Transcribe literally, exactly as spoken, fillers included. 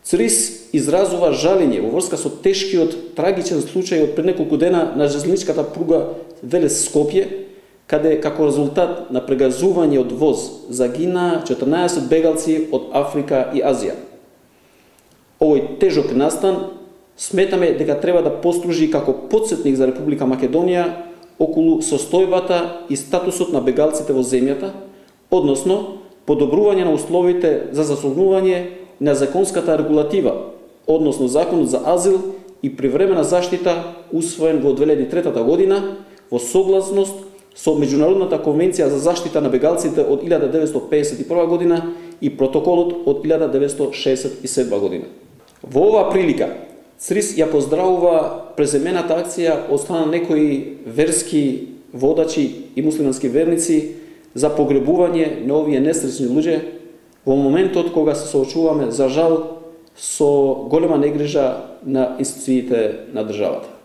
ЦРИС изразува жалење во врска со тешкиот трагичен случај од пред неколку дена на железничката пруга Велес-Скопје, каде како резултат на прегазување од воз загинаа четрнаесет бегалци од Африка и Азија. Овој тежок настан сметаме дека треба да послужи како потсетник за Република Македонија околу состојбата и статусот на бегалците во земјата, односно подобрување на условите за заслужување на законската регулатива, односно Законот за азил и привремена заштита усвоен во две илјади и трета година во согласност со Меѓународната конвенција за заштита на бегалците од илјада деветстотини педесет и прва година и протоколот од илјада деветстотини шеесет и седма година. Во оваа прилика ЦРИС ја поздравува преземената акција од страна на некои верски водачи и муслимански верници за погребување на овие несреќни луѓе во моментот кога се соочуваме, за жал, со голема негрижа на институциите на државата.